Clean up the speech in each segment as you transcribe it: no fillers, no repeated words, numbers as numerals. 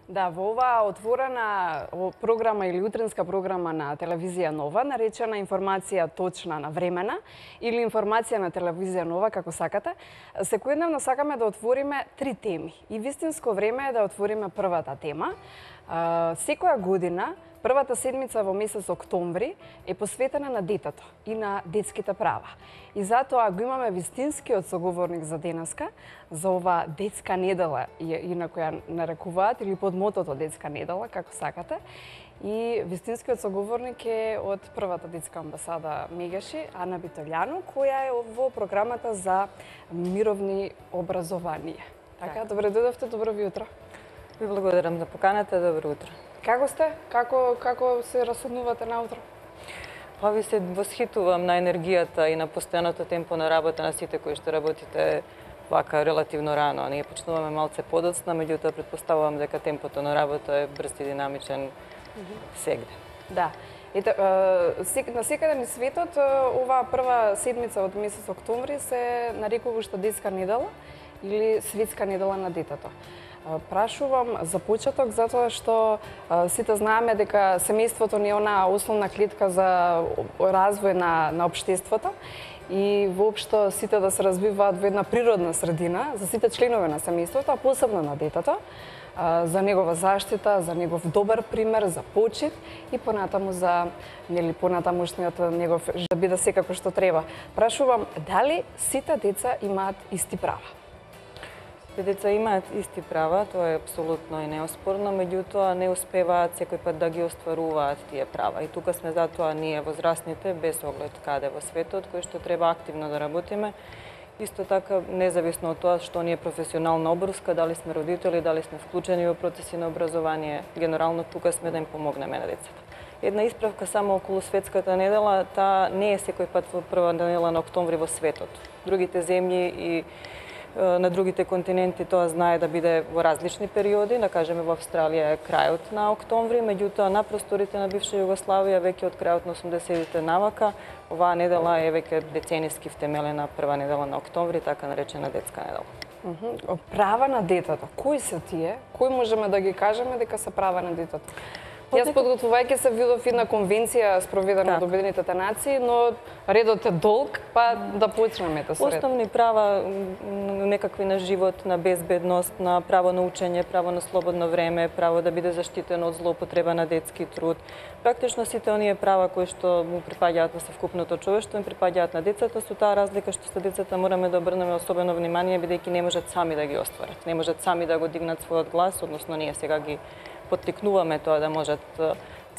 Да, во оваа отворена програма или утринска програма на телевизија Нова, наречена информација точна на времена или информација на телевизија Нова, како сакате, секојдневно сакаме да отвориме 3 теми. И вистинско време е да отвориме првата тема. Секоја година, првата седмица во месец октомври е посветена на детето и на детските права. И затоа го имаме вистинскиот соговорник за денеска, за ова детска недела, инаку ја нарекуваат, или под мотото детска недела, како сакате. И вистинскиот соговорник е од првата детска амбасада Мегеши, Ана Битолјану, која е во програмата за мировни образование. Така, добре дојдовте, добро ви утро. Ви благодарам за поканата, добро утро. Како сте? Како се расуднувате наутро? Па ви се восхитувам на енергијата и на постојаното темпо на работа на сите кои што работите вака релативно рано. Ние почнуваме малце подоцна, меѓутоа претпоставувам дека темпото на работа е брз и динамичен сегде. Да. Ете, на секаде ни светот, оваа прва седмица од месец октомври се нарекува уште детска недела или светска недела на детето. Прашувам за почеток затоа што сите знаеме дека семејството не е онаа основна клетка за развој на општеството и воопшто сите да се развиваат во една природна средина за сите членови на семејството, а посебно на детето, за негова заштита, за негов добар пример, за почит и понатаму за понатамушниот негов да биде секако што треба. Прашувам дали сите деца имаат исти права? Деца имаат исти права, тоа е апсолутно и неоспорно, меѓутоа не успеваат секој пат да ги остваруваат тие права. И тука сме затоа ние возрастните, без оглед каде во светот, кои што треба активно да работиме. Исто така, независно од тоа што ние професионална обврска, дали сме родители, дали сме вклучени во процеси на образование, генерално тука сме да им помогнеме на децата. Една исправка само околу светската недела, таа не е секој пат во прва недела на октомври во светот. Другите земји и на другите континенти тоа знае да биде во различни периоди, да кажеме во Австралија е крајот на октомври, меѓутоа на просторите на бивша Југославија веќе од крајот на 80-тите навака, оваа недела е веќе децениски втемелена прва недела на октомври, така наречена детска недела. Права на детето, кои се тие? Кои можеме да ги кажеме дека се права на детето? Јас подготвувајќи се видов една конвенција спроведена од Обединетите нации, но редот е долг, па да почнеме со ред. Основни права некакви на живот, на безбедност, на право на учење, право на слободно време, право да биде заштитено од злоупотреба на детски труд. Практично сите оние права кои што му припаѓаат на совкупното човештво, им припаѓаат на децата, со таа разлика што со децата мораме да обрнеме особено внимание бидејќи не можат сами да ги остварат, не можат сами да го дигнат својот глас, односно ние сега ги поттикнуваме тоа да можат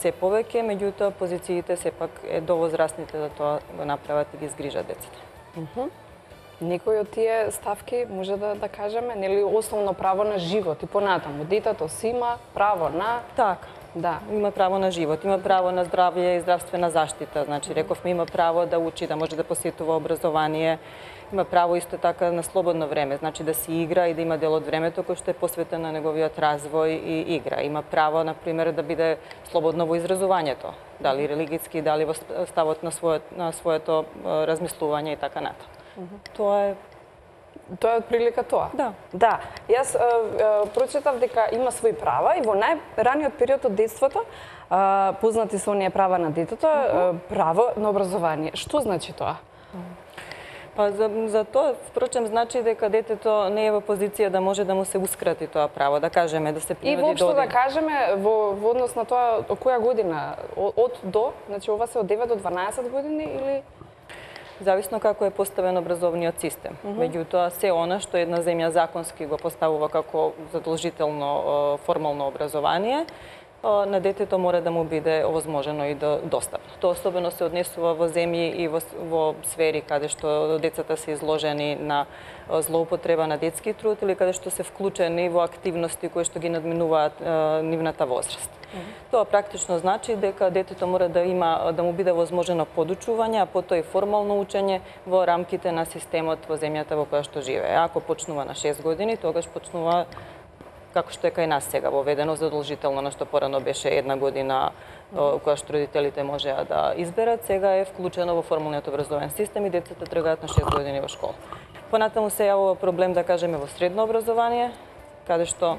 се повеќе, меѓутоа позициите сепак е до возрастните да тоа го направат и ги згрижат децата. Некои од тие ставки може да кажеме, нели основно право на живот и понатаму детето си има право на така. Да, има право на живот, има право на здравје и здравствена заштита. Значи, рековме, има право да учи, да може да посетува образование, има право исто така на слободно време, значи да си игра и да има дел од времето кој што е посветен на неговиот развој и игра. Има право, например, да биде слободно во изразувањето, дали религиски, дали во ставот на своето размислување и така натаму. Тоа е отприлика тоа? Да. Да. Јас прочитав дека има своји права и во најраниот период од детството познати се оние права на детето, право на образование. Што значи тоа? Па за тоа, впрочем, значи дека детето не е во позиција да може да му се ускрати тоа право, да кажеме, да се принуди и воопшто да кажеме во однос на тоа од која година, од до, значи ова се од 9 до 12 години или зависно како е поставен образовниот систем. Меѓутоа, се она што една земја законски го поставува како задолжително формално образование, на детето мора да му биде овозможено и достапно. Тоа особено се однесува во земји и во сфери каде што децата се изложени на злоупотреба на детски труд или каде што се вклучени во активности кои што ги надминуваат нивната возраст. Тоа практично значи дека детето мора да му биде возможено подучување, а потоа и формално учење во рамките на системот во земјата во која што живее. Ако почнува на 6 години, тогаш почнува како што е кај нас сега воведено задолжително, на што порано беше 1 година која што родителите можеа да изберат, сега е вклучено во формалниот образовен систем и децата тргаат на 6 години во школа. Понатаму се јавува проблем, да кажеме, во средно образование, каде што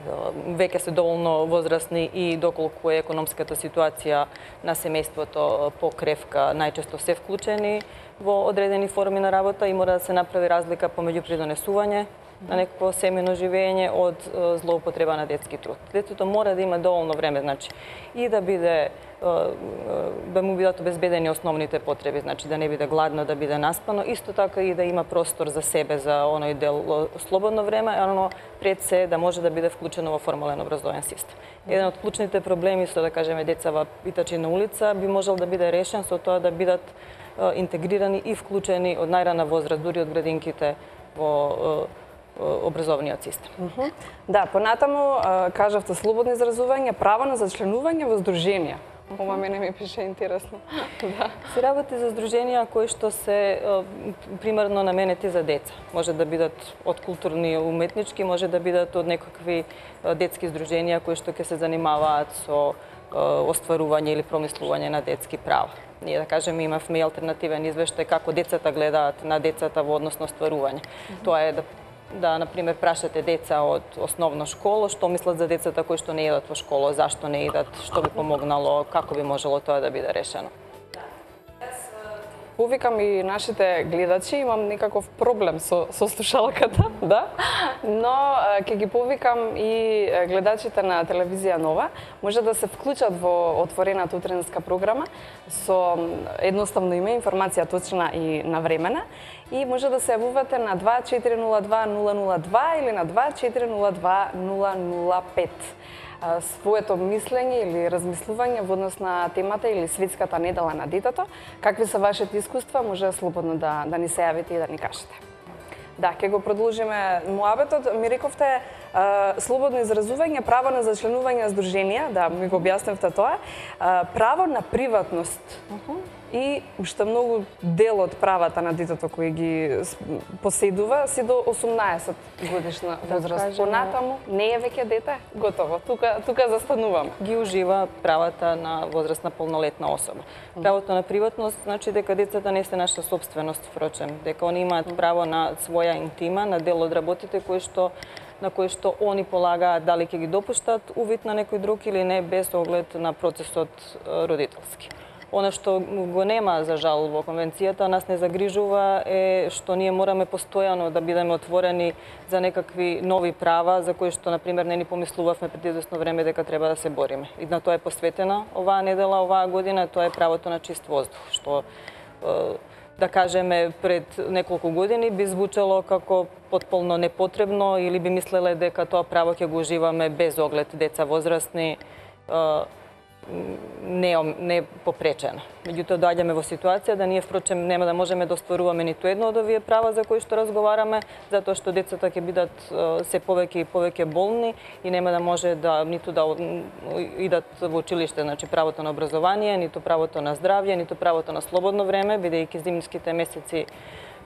веќе се доволно возрастни и доколку е економската ситуација на семејството покревка, најчесто се вклучени во одредени форми на работа и мора да се направи разлика помеѓу придонесување на некакво семејно живење од злоупотреба на детски труд. Детето мора да има доволно време, значи, и да му бидат обезбедени основните потреби, значи да не биде гладно, да биде наспано, исто така и да има простор за себе, за оној дел слободно време, но пред се да може да биде вклучено во формален образовен систем. Еден од клучните проблеми со, да кажеме, деца во питачи на улица би можел да биде решен со тоа да бидат интегрирани и вклучени од најрана возраст, дури од градинките во образовниот систем. Да, понатаму кажавте слободно изразување, право на зачленување во здруженија. Ова мене ми пише интересно. Да. Се работи за здруженија кои што се примерно наменети за деца. Може да бидат од културни и уметнички, може да бидат од некакви детски здруженија кои што ќе се занимаваат со остварување или промислување на детски права. Ние, да кажеме, имавме и алтернативен извештај како децата гледаат на децата во однос на остварување. Тоа е да, например, прашате деца од основна школа, што мислат за децата кои што не идат во школа, зашто не идат, што би помогнало, како би можело тоа да биде решено. Повикам и нашите гледачи, имам некаков проблем со слушалката, да, но ќе ги повикам и гледачите на телевизија Нова, може да се вклучат во отворената утренска програма со едноставно име, информација точна и навремена, и може да се јавувате на 2402-002 или на 2402-005. Своето мислење или размислување во однос на темата или светската недела на детето, какви се вашите искуства, може слободно да ни се јавите и да ни кажете. Да, ќе го продолжиме муабетот. Ми рековте слободно изразување, право на зачленување здруженија, да, ми го објасневте тоа, право на приватност. И уште многу дел од правата на детето кои ги поседува си до 18 годишна возраст. Понатаму не е веќе дете, готово. Тука застануваме. Ги ужива правата на возрастна полнолетна особа. Правото на приватност значи дека децата не се наша собственост, впрочем, дека они имаат право на своја интима, на дел од работите на кои што они полагаат дали ќе ги допуштат увид на некој друг или не, без оглед на процесот родителски. Она што го нема, за жал, во конвенцијата, нас не загрижува е што ние мораме постојано да бидеме отворени за некакви нови права за кои што, например, не ни помислувавме пред известно време дека треба да се бориме. И на тоа е посветена оваа недела, оваа година, тоа е правото на чист воздух, што да кажеме пред неколку години би звучало како потполно непотребно или би мислеле дека тоа право ќе го уживаме без оглед деца возрастни, не попречено. Меѓутоа доаѓаме во ситуација да ние впрочем нема да можеме да остваруваме ниту едно од овие права за кои што разговараме, затоа што децата ќе бидат се повеќе и повеќе болни и нема да може ниту да идат во училиште, значи правото на образование, ниту правото на здравје, ниту правото на слободно време, бидејќи зимските месеци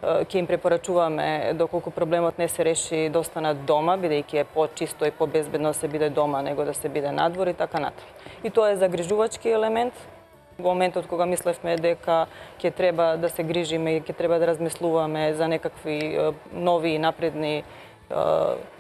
ќе им препорачуваме доколку проблемот не се реши да останат дома, бидејќи е почисто и побезбедно да се биде дома него да се биде надвор и така натаму. И тоа е загрижувачки елемент. Во моментот кога мислевме дека ќе треба да се грижиме и ќе треба да размислуваме за некакви нови и напредни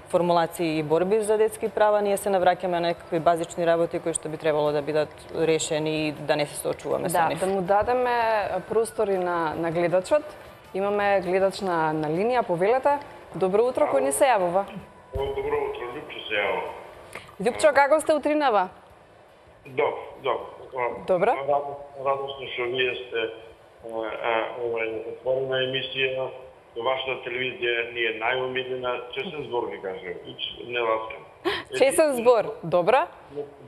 формулации и борби за детски права, ние се навраќаме на некакви базични работи кои што би требало да бидат решени и да не се соочуваме со нив. Да му дадеме простори на гледачот. Имаме гледач на линија, повелете. Добро утро, кој ни се јавува? Добро утро, Љупчо се јавува. Љупчо, како сте утринава? Добро. Радосно што вие сте отворена емисија. Во вашата телевизија ни е најомилена. Честен збор ви кажем, не ласкам. Честен збор, добро?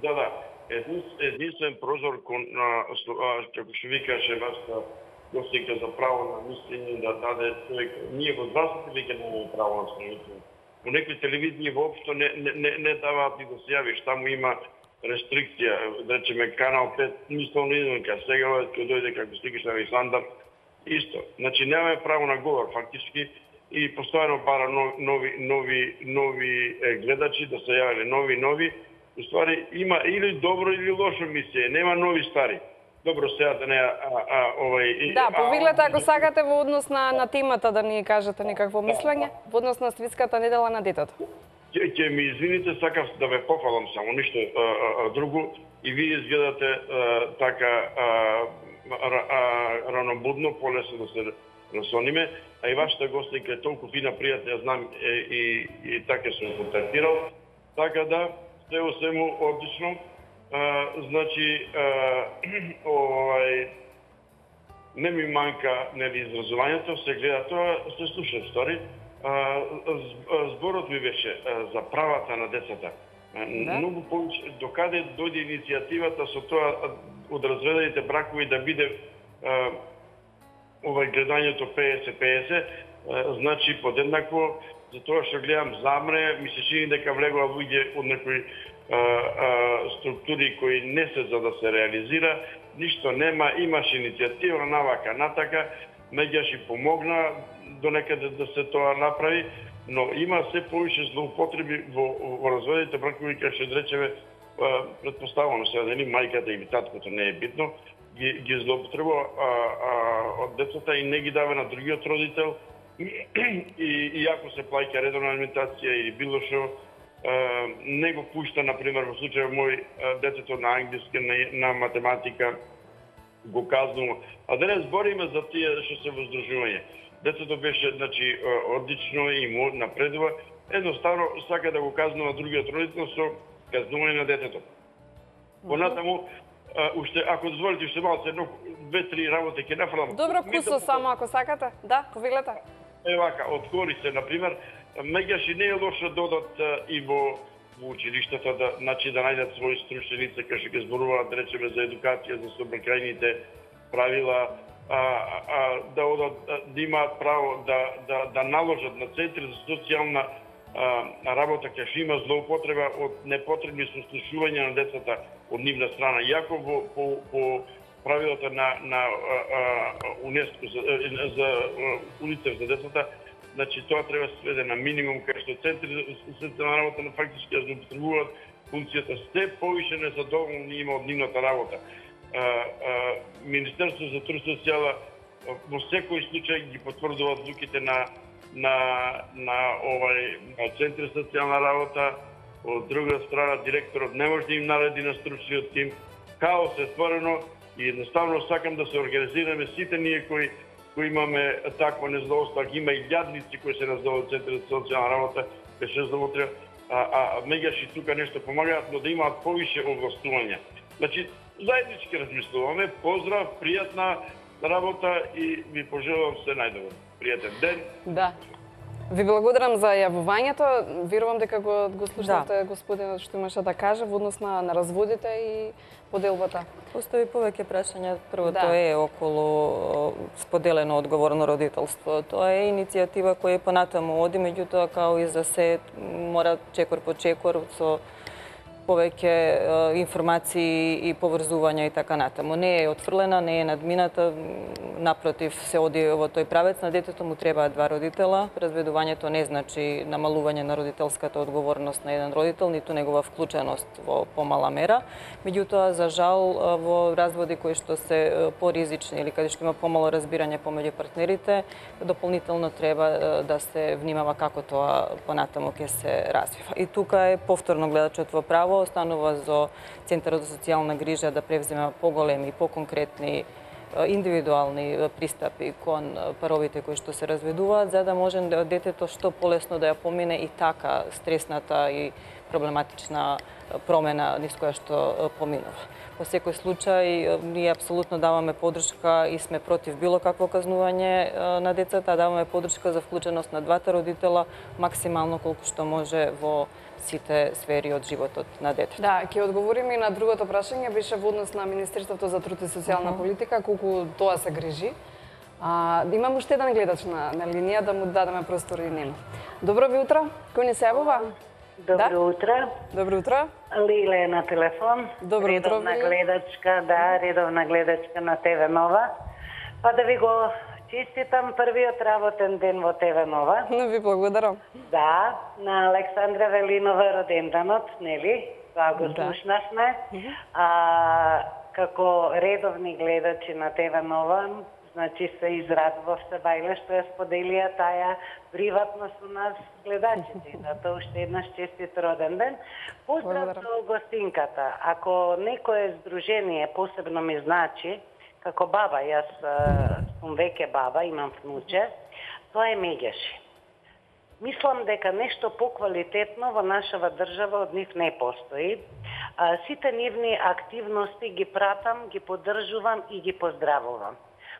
Да. Единствен прозор кон, како што ви каже вашата гостинка за право на мислење да даде човек. Ние во здравството веќе немаме право на мислење. Во некои телевизии воопшто не даваат ни да се јавиш, таму има рестрикција, да речеме канал 5, мисловно извонка, сега кога дојде како стигаш на Исландар, исто. Значи немаме право на говор фактички и постојано бара нови гледачи да се јавеле, нови. Уствари има или добро или лошо мислење, нема нови стари. Добро, сега да не Да, повеглете ако сакате во однос на темата да ни кажете некакво мислење во однос на светската недела на детето. Ќе ми извините, сакав да ве пофалам само, ништо друго, и вие изгледате така ранобудно, полесно да се насониме, а и вашата гостинка е толку фина, пријатна, ја знам и така сум контактирал, така да, се о свему одлично, значи, не ми манка изразувањето, се гледа тоа, се слуша стори. Зборот ми беше за правата на децата. Многу повеќе, докаде дојде иницијативата со тоа од разведените бракови да биде гледањето 50-50, значи подеднакво, за тоа што гледам замре, ми се чини дека влегува луѓе од некои структури кои не се за да се реализира, ништо нема, имаш иницијатива, навака, натака, меѓаш и помогна до некаде да се тоа направи, но има се повише злоупотреби во разводите бракови, кај што речеме, предпоставено сега дали мајката или таткото не е битно, ги злоупотребува од децата и не ги дава на другиот родител, и ако се плаќа редовна алиментација или било што, не го пушта, например, во случај мој детето на англиски, на математика, го казнува. А да не збориме за тие што се воздружување. Детето беше, значи, одлично и му напредува. Едноставно сака да го казнува другиот родител со казнување на детето. Понатаму, уште, ако дозволите, уште малце, едно, 2-3 работи ќе нафрлам. Добро, кусо само ако сакате. Да, повелете. Вака, откори се, например, меѓаш и не е лошо додат и во училиштата, значи да најдат своји стручни лица, кај што ќе зборуваат, да речеме, за едукација, за сообраќајните правила, да одат, да имаат право да наложат на центри за социјална работа, кај што има злоупотреба од непотребни сослушувања на децата од нивна страна. Иако по правилата на УНЕСКО за УНИЦЕФ за децата, значи тоа треба да се сведе на минимум, кај што центри за социјална работа на фактички ја злоупотребуваат функцијата. Се повише незадоволни има од нивната работа. Министерство за труд и социјала во секој случај ги потврдува одлуките на центри за социјална работа. Од друга страна, директорот не може да им нареди на стручниот тим. Хаос е створено и едноставно сакам да се организираме сите ние кои имаме такво незадоволство, ако има и јадници кои се раздаваат центри за социјална работа, беше завотре, меѓаш и тука нешто помагаат, но да имаат повише овластувања. Значи, заеднички размислуваме, поздрав, пријатна работа и ви пожелувам се најдобро. Пријатен ден. Да. Ви благодарам за јавувањето. Верувам дека го слушнавте господинот што имаше да каже во однос на разводите и поделбата. Постои повеќе прашања. Првото е околу споделено одговорно родителство. Тоа е иницијатива која понатаму оди, меѓутоа као и за се мора чекор по чекор со повеќе информации и поврзувања и така натаму. Не е отфрлена, не е надмината, напротив се оди во тој правец. На детето му требаат два родитела. Разведувањето не значи намалување на родителската одговорност на еден родител, ниту негова вклученост во помала мера. Меѓутоа, за жал, во разводи кои што се поризични или каде што има помало разбирање помеѓу партнерите, дополнително треба да се внимава како тоа понатаму ќе се развива. И тука е повторно гледачот во право, останува за Центарот за социјална грижа да превзема поголеми и поконкретни индивидуални пристапи кон паровите кои што се разведуваат, за да може детето што полесно да ја помине и така стресната и проблематична промена низ која што поминува. Во секој случај, ние апсолутно даваме поддршка и сме против било какво казнување на децата, даваме поддршка за вклученост на двата родитела максимално колку што може во сите сфери од животот на детето. Да, ќе одговориме и на другото прашање, беше во однос на Министерството за труд и социјална политика, колку тоа се грижи. Имам уште еден гледач на линија, да му дадеме простор и нему. Добро ви утро, кој ни се јавува? Добро утро. Добро утро. Лиле е на телефон. Добро утро, редовна гледачка, редовна гледачка на ТВ Нова. Па да ви го честитам првиот работен ден во ТВ Нова. Ви благодарам. Да, на Александра Велинова роденданот, нели? Тоа го слушнавме. Како редовни гледачи на ТВ Нова, значи се израдував се бајле што ја споделија таа приватно со нас гледачите. Затоа уште еднаш честит роден ден. Поздрав до гостинката. Ако некое здружение посебно ми значи, како баба, јас сум веќе баба, имам внуче, тоа е Меѓаши. Мислам дека нешто поквалитетно во нашава држава од нив не постои. Сите нивни активности ги пратам, ги поддржувам и ги поздравувам.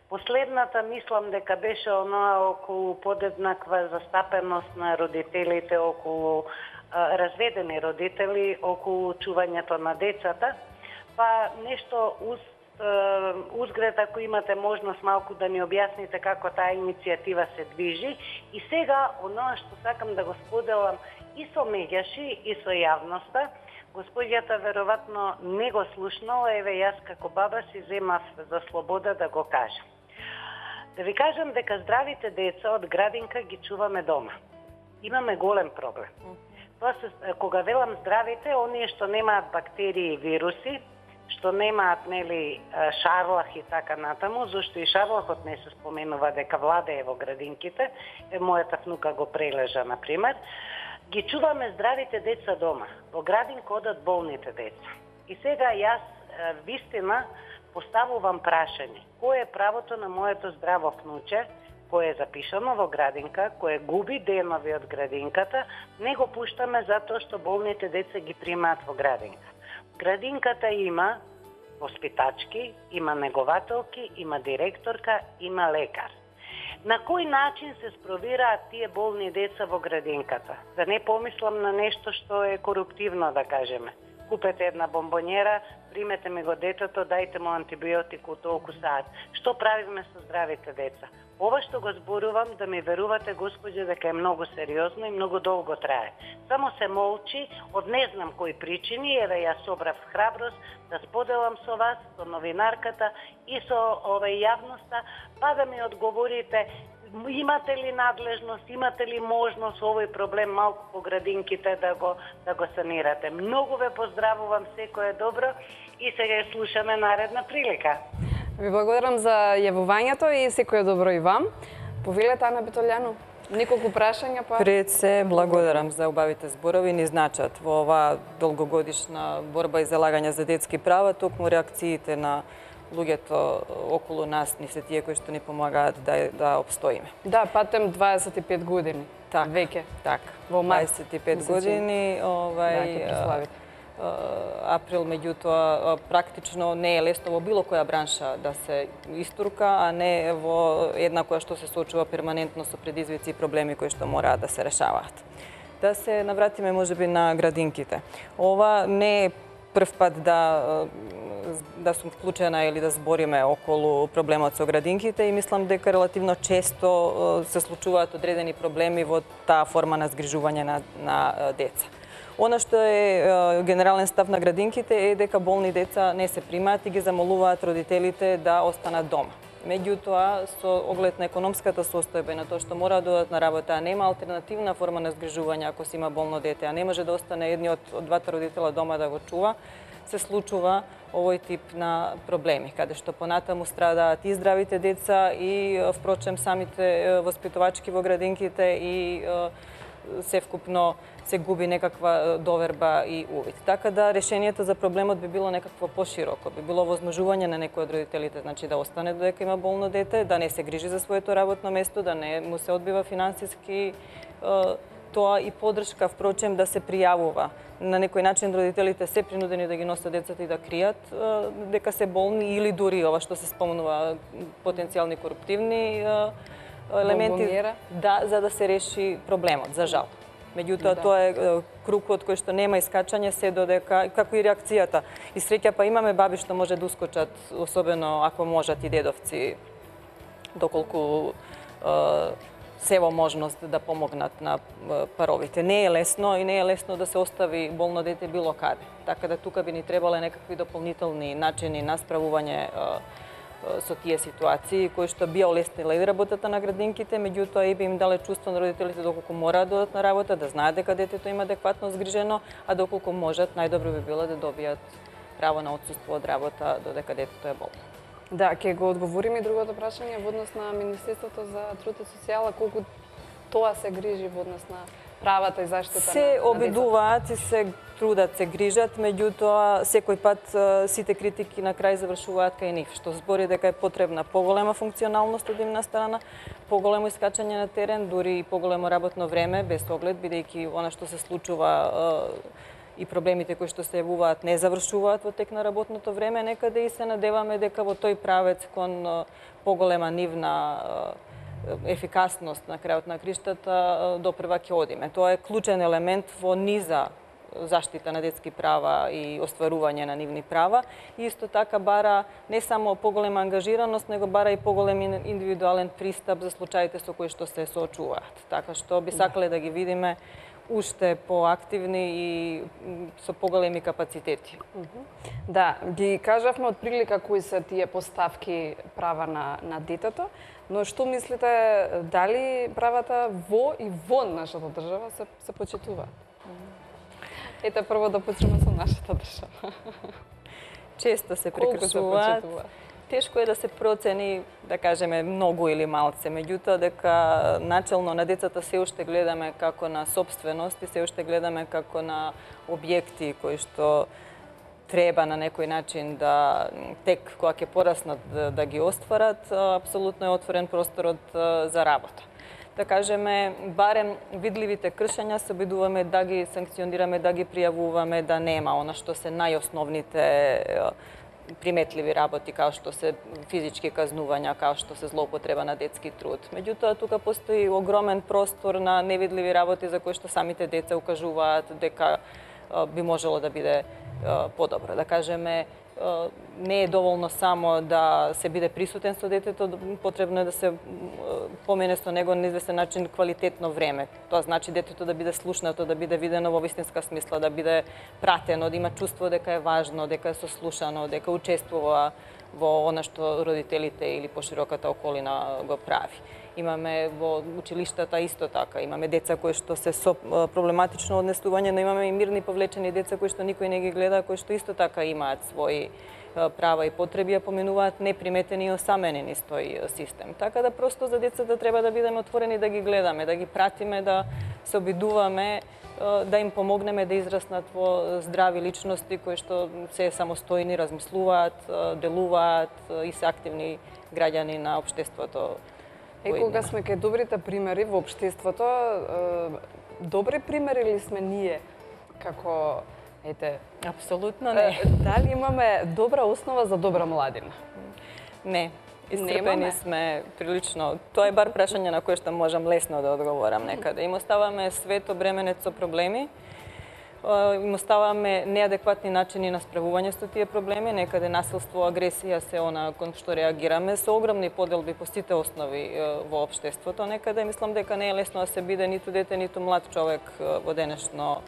Последната мислам дека беше оноа околу подеднаква застапеност на родителите, околу разведени родители, околу чувањето на децата, па нешто узгред, ако имате можност малку да ни објасните како таа иницијатива се движи. И сега, оноа што сакам да го споделам и со Меѓаши, и со јавноста, госпоѓата веројатно не го слушнала, еве јас како баба си земав за слобода да го кажам. Да ви кажам дека здравите деца од градинка ги чуваме дома. Имаме голем проблем. Тоа се, кога велам здравите, оние што немаат бактерии и вируси, што немаат нели шарлах и така натаму, зашто и шарлахот не се споменува дека владее во градинките, мојата внука го прележа на пример. Ги чуваме здравите деца дома. Во градинка одат болните деца. И сега јас вистина поставувам прашање. Кое е правото на моето здраво внуче, кое е запишано во градинка, кое губи денови од градинката, не го пуштаме затоа што болните деца ги примаат во градинка. Градинката има воспитачки, има негователки, има директорка, има лекар. На кој начин се спровираат тие болни деца во градинката? Да не помислам на нешто што е коруптивно, да кажеме. Купете една бомбонjera, примете ми го детето, дајте му антибиотик у толку саат. Што правиме со здравите деца? Ова што го зборувам, да ми верувате, Господи, дека е многу сериозно и многу долго трае. Само се молчи, од не знам кои причини, еве јас собрав храброст да споделам со вас, со новинарката и со јавноста, па да ми одговорите, имате ли надлежност, имате ли можност овој проблем малку по градинките да го санирате. Многу ве поздравувам, секое добро и сега ја слушаме наредна прилика. Ви благодарам за јавувањето и секое добро и вам. Повелете, Ана Битолјану, неколку прашања па... Пред се, благодарам за убавите зборови, ни значат во оваа долгогодишна борба и залагање за детски права, токму реакциите на луѓето околу нас ни се тие кои што ни помагаат да обстоиме. Да, патем 25 години. Так, веќе. Така. Во март. 25 години, април, меѓутоа практично не е лесно во било која бранша да се истурка, а не во една која што се соочува перманентно со предизвици и проблеми кои што мораат да се решаваат. Да се навратиме можеби на градинките. Ова не е прв пат да сум вклучена или да збориме околу проблемот со градинките и мислам дека релативно често се случуваат одредени проблеми во таа форма на згрижување на деца. Она што е генерален став на градинките е дека болни деца не се примаат и ги замолуваат родителите да останат дома. Меѓутоа, со оглед на економската состојба и на тоа што мора да одат на работа, а нема алтернативна форма на згрижување ако си има болно дете, а не може да остане едниот од двата родителя дома да го чува, се случува овој тип на проблеми, каде што понатаму страдаат и здравите деца и впрочем самите воспитувачки во градинките и севкупно се губи некаква доверба и увид. Така да решението за проблемот би било некакво пошироко, би било возможување на некој од родителите, значи да остане додека има болно дете, да не се грижи за своето работно место, да не му се одбива финансиски тоа и поддршка, впрочем, да се пријавува. На некој начин родителите се принудени да ги носат децата и да кријат дека се болни или дури ова што се спомнува потенцијални коруптивни елементи, да, за да се реши проблемот, за жал. Меѓутоа, тоа е крукот кој што нема искачање се додека, како и реакцијата. И среќа па имаме баби што може да ускочат, особено ако можат и дедовци, доколку се во можност да помогнат на паровите. Не е лесно и не е лесно да се остави болно дете било каде. Така да тука би ни требале некакви дополнителни начини на справување со тие ситуации, кои што би олеснила и работата на градинките, меѓутоа и би им дале чувство на родителите доколку мораат да одат на работа, да знаат дека детето има адекватно згрижено, а доколку можат, најдобро би било да добијат право на отсуство од работа додека детето е болно. Да, ќе го одговориме и другото прашање во однос на Министерството за труд и социјала, колку тоа се грижи во однос на правата и заштита на се обидуваат и се трудат, се грижат, меѓутоа секој пат сите критики на крај завршуваат кај нив, што збори дека е потребна поголема функционалност од една страна, поголемо искачање на терен, дури и поголемо работно време, без оглед, бидејќи она што се случува и проблемите кои што се јавуваат не завршуваат во тек на работното време, некаде и се надеваме дека во тој правец кон поголема нивна ефикасност на крајот на криштата допрева ќе одиме. Тоа е клучен елемент во низа заштита на детски права и остварување на нивни права. И исто така бара не само поголема ангажираност, него бара и поголем индивидуален пристап за случаите со кои што се соочуваат. Така што би сакале да ги видиме уште поактивни и со поголеми капацитети. Да, ги кажавме од прилика кои се тие поставки права на детето, но што мислите, дали правата во и вон нашата држава се почитуваат? Ете, прво да почнеме со нашата држава. Често се прекршуваат. Тешко е да се процени, да кажеме, многу или малце, меѓутоа дека начелно на децата се уште гледаме како на собственост и се уште гледаме како на објекти кои што треба на некој начин да тек кога ќе пораснат да ги остварат, апсолутно е отворен просторот за работа. Да кажеме, барем видливите кршења се обидуваме да ги санкционираме, да ги пријавуваме, да нема она што се најосновните приметливи работи, као што се физички казнувања, као што се злоупотреба на детски труд. Меѓутоа, тука постои огромен простор на невидливи работи за кои што самите деца укажуваат дека би можело да биде подобро. Да кажеме, не е доволно само да се биде присутен со детето, потребно е да се помине со него на известен начин квалитетно време. Тоа значи детето да биде слушнато, да биде видено во вистинска смисла, да биде пратено, да има чувство дека е важно, дека е сослушано, дека учествува во она што родителите или пошироката околина го прави. Имаме во училиштата исто така, имаме деца кои што се со проблематично однесување, но имаме и мирни повлечени деца кои што никој не ги гледа, кои што исто така имаат своји права и потреби, а поминуваат неприметени и осаменени низ тој систем. Така да просто за децата треба да бидеме отворени да ги гледаме, да ги пратиме, да се обидуваме, да им помогнеме да израснат во здрави личности кои што се самостојни, размислуваат, делуваат и се активни граѓани на општеството. Кога сме кај добрите примери во општеството, добри примери ли сме ние како Апсолутно не. Дали имаме добра основа за добра младина? Не. Исцрпени сме прилично. Тоа е бар прашање на кое што можам лесно да одговорам некаде. Им оставаме свет обременет со проблеми, им оставаме неадекватни начини на справување со тие проблеми, некаде насилство, агресија се она кон што реагираме со огромни поделби по сите основи во општеството. Некаде мислам дека не е лесно да се биде ниту дете, ниту млад човек во денешно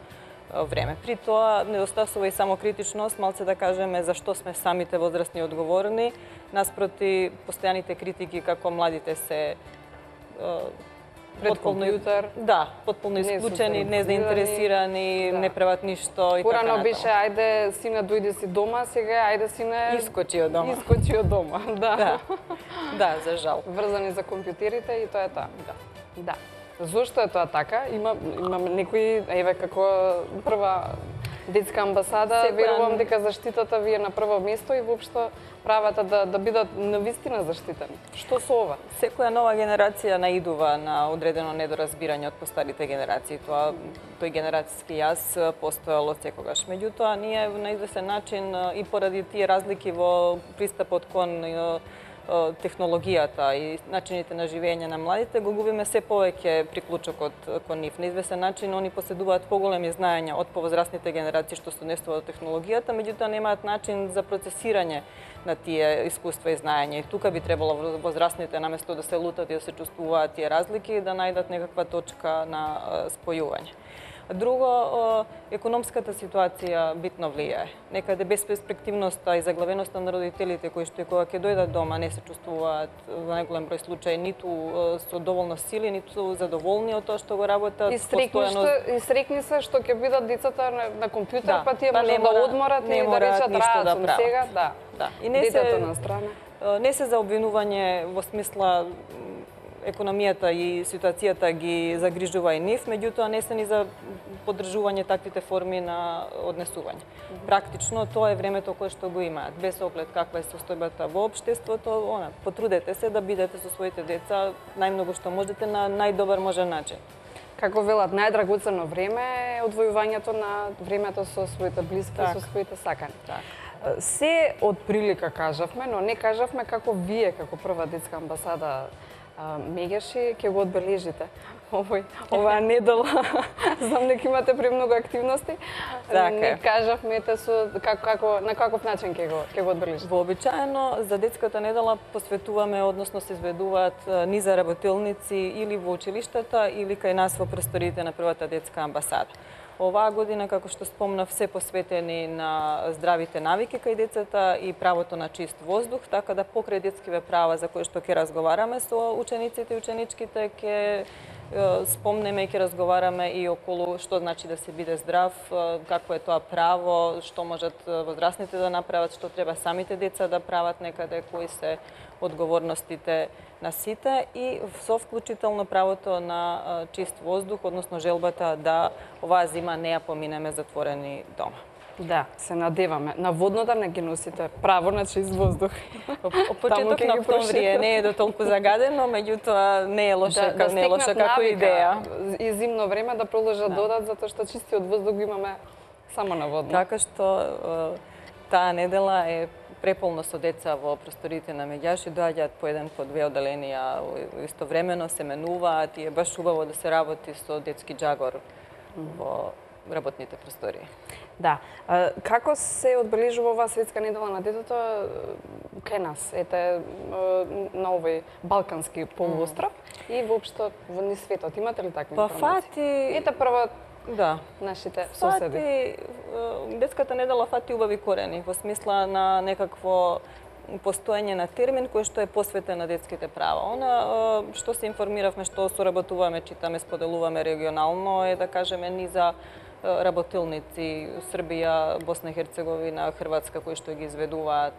време. При тоа недостасува и самокритичност, малце да кажеме зашто сме самите возрастни одговорни, наспроти постојаните критики како младите се пред компјутер. Да, потполно исклучени, незаинтересирани, не прават ништо и така натаму. Порано беше ајде сине дојди си дома, сега ајде сине искочи од дома. Искочи од дома, да. Да, за жал. Врзани за компјутерите и тоа е тоа. Да. Зошто е тоа така? Имаме некои, еве како прва детска амбасада, верувам дека заштитата ви е на прво место и воопшто правата да бидат навистина заштитени. Што со ова? Секоја нова генерација наидува на одредено недоразбирање од постарите генерации. Тој генерацијски јаз постоел од секогаш. Меѓутоа, ние на известен начин и поради тие разлики во пристапот кон технологијата и начините на живење на младите, го губиме се повеќе приклучокот кон нив. На известен начин, они поседуваат поголеми знаења од повозрастните генерации што се однесува од технологијата, меѓутоа немаат начин за процесирање на тие искуства и знаења. И тука би требало возрастните, наместо да се лутат и да се чувствуваат тие разлики, да најдат некаква точка на спојување. Друго, економската ситуација битно влијае. Некаде безперспективноста и заглавеноста на родителите кои што кога ќе дојдат дома не се чувствуваат во најголем број случаи ниту со доволно сили, ниту задоволни од тоа што го работат. И срекни се што ќе бидат децата на компјутер, па тие може да одморат и да речат рацун сега, да. И не детето на страна. Не се за обвинување во смисла економијата и ситуацијата ги загрижува и нив, меѓутоа не се ни за поддржување таквите форми на однесување. Практично тоа е времето кое што го имаат, без оглед каква е состојбата во општеството, потрудете се да бидете со своите деца најмногу што можете на најдобар можен начин. Како велат, најдрагоцено време е одвојувањето на времето со своите блиски и со своите сакани. Се од прилика кажавме, но не кажавме како вие, како прва детска амбасада Мегеши, ќе го одбележите оваа недела. Знам дека имате премногу активности. Не кажавме на каков начин ќе го одбележите. Вообичаено за детската недела посветуваме, односно се изведуваат низа работилници или во училиштата или кај нас во просториите на првата детска амбасада. Оваа година, како што спомнав, се посветени на здравите навики кај децата и правото на чист воздух, така да покрај детскиве права за кои што ќе разговараме со учениците и ученичките, ќе спомнеме и ќе разговараме и околу што значи да се биде здрав, какво е тоа право, што можат возрастните да направат, што треба самите деца да прават некаде, кои се одговорностите на сите и со вклучително правото на чист воздух, односно желбата да оваа зима не ја поминеме затворени дома. Да, се надеваме. На воднода не ги носите право на чист воздух. Почеток на октомври не е до толку загадено, меѓутоа не е лоша, не е лоша како идеја. И зимно време да продолжат додат, затоа што чистиот воздух го имаме само на водно. Така што таа недела е преполно со деца во просториите на Меѓаши, доаѓаат по еден, по две оделенија истовремено, се менуваат и е баш убаво да се работи со детски џагор во работните простории. Да. Како се одбележува оваа светска недела на детето кај нас? Ете, на овој балкански полуостров и воопшто во низ светот. Имате ли такви информации? Ете прво нашите соседи. Детската недела фати убави корени, во смисла на некакво постоење на термин кој што е посветен на детските права. Она што се информиравме, што соработуваме, читаме, споделуваме регионално е да кажеме низа работилници Србија, Босна и Херцеговина, Хрватска кои што ги изведуваат.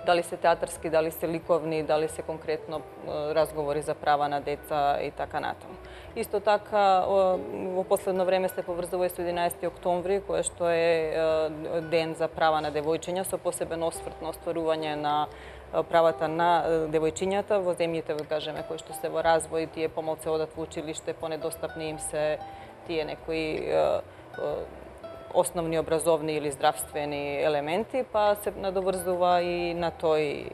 Дали се театарски, дали се ликовни, дали се конкретно разговори за права на деца и така натаму. Исто така, во последно време се поврзува и со 11 октомври, кој што е ден за права на девојчиња, со посебен осврт на остварување на правата на девојчињата во земјите, кажеме, кои што се во развој, тие помалце одат во училиште, понедостапни им се тие некои основни образовни или здравствени елементи, па се надоврзува и на тој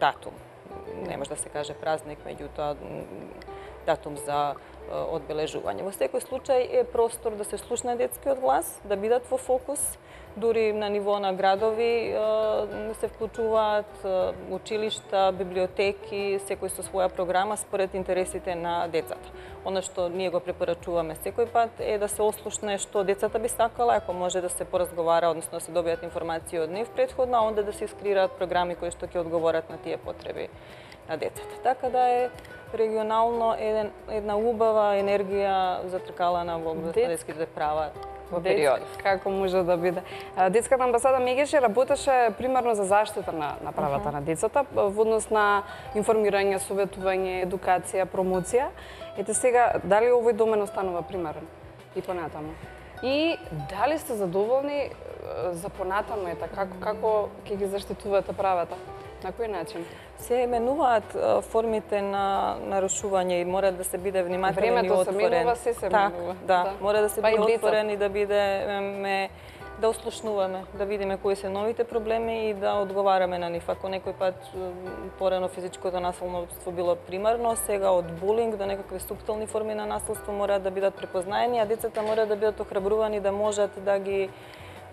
датум. Не може да се каже празник, меѓутоа датум за одбележување. Во секој случај е простор да се слушне детскиот глас, да бидат во фокус, дури на ниво на градови се вклучуваат училишта, библиотеки, секој со своја програма според интересите на децата. Оно што ние го препорачуваме секој пат е да се ослушне што децата би сакала, ако може да се поразговара, односно да се добијат информации од нив претходно, а онда да се искреираат програми кои што ќе одговорат на тие потреби на децата. Така да е регионално една убава енергија затркалана во детските права во период. Како може да биде? Детската амбасада Мегеши работеше примерно за заштита на правата на децата, во однос на информирање, советување, едукација, промоција. Ете сега, дали овој домен останува примерен и понатаму? И дали сте задоволни за понатаму, како ќе ги заштитувате правата? На кој начин? Се менуваат формите на нарушување и мора да се биде внимателен и отворен. Времето се менува, се менува. Да, мора да се биде отворен и да бидеме да ослушнуваме, да видиме кои се новите проблеми и да одговараме на нив. Ако некој пат порано физичкото насилство било примарно, сега од булинг до некакви суптилни форми на насилство мора да бидат препознаени, а децата мора да бидат охрабрувани да можат да ги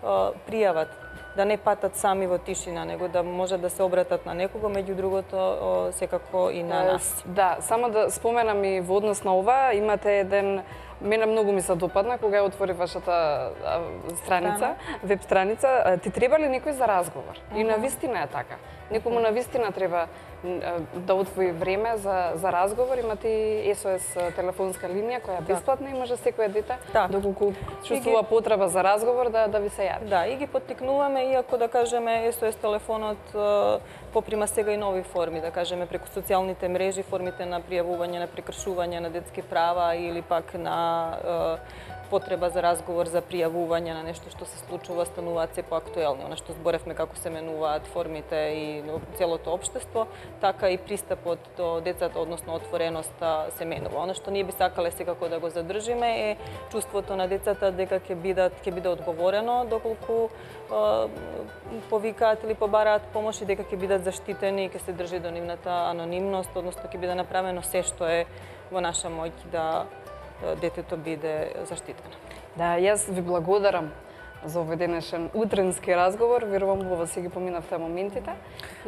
пријават, да не патат сами во тишина, него да можат да се обратат на некого, меѓу другото секако и на нас. Да, само да споменам и во однос на ова, имате еден Мене многу ми се допадна кога ја отвори вашата страница, веб страница. Ти треба ли некој за разговор? И навистина е така. Некому навистина треба да отвои време за разговор. Имате СОС телефонска линија која е бесплатна и може секој дете доколку чувствува потреба за разговор да ви се јави. Да, и ги поттикнуваме, иако да кажеме СОС телефонот поприма сега и нови форми, да кажеме преку социјалните мрежи, формите на пријавување на прекршување на детски права или пак на потреба за разговор, за пријавување на нешто што се случува, стануваат се поактуелни. Она што зборевме како се менуваат формите и целото општество, така и пристапот до децата, односно отвореноста се менува. Она што ние би сакале секако да го задржиме е чувството на децата дека ќе биде одговорено доколку повикаат или побараат помош и дека ќе бидат заштитени и ќе се држи до нивната анонимност, односно ќе биде направено се што е во наша моќ да детето биде заштитено. Да, јас ви благодарам за овој денешен утренски разговор. Верувам во вас си ги поминавте моментите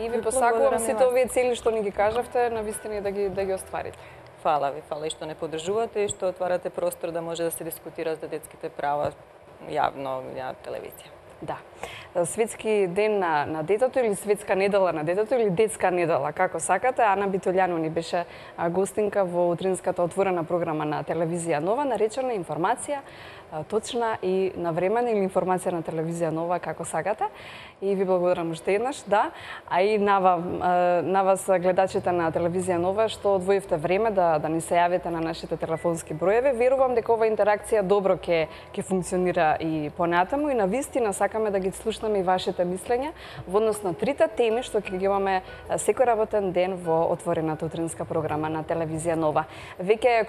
и ви посакувам сите овие цели што ни ги кажавте навистина да ги остварите. Фала ви, фала и што не поддржувате и што отварате простор да може да се дискутира за детските права јавно на телевизија. Да. Светски ден на детето или светска недела на детето или детска недела, како сакате. Ана Битолјано ни беше гостинка во утринската отворена програма на телевизија Нова, наречена информација точна и навремена или информација на телевизија Нова, како сакате. И ви благодарам уште еднаш, да. А и на вас гледачите на телевизија Нова што одвоивте време да ни се јавите на нашите телефонски броеви. Верувам дека ова интеракција добро ќе функционира и понатаму и навистина сакаме да ги слушнеме и вашите мислења во однос на трите теми што ќе ги имаме секој работен ден во отворената утринска програма на телевизија Нова. Веќе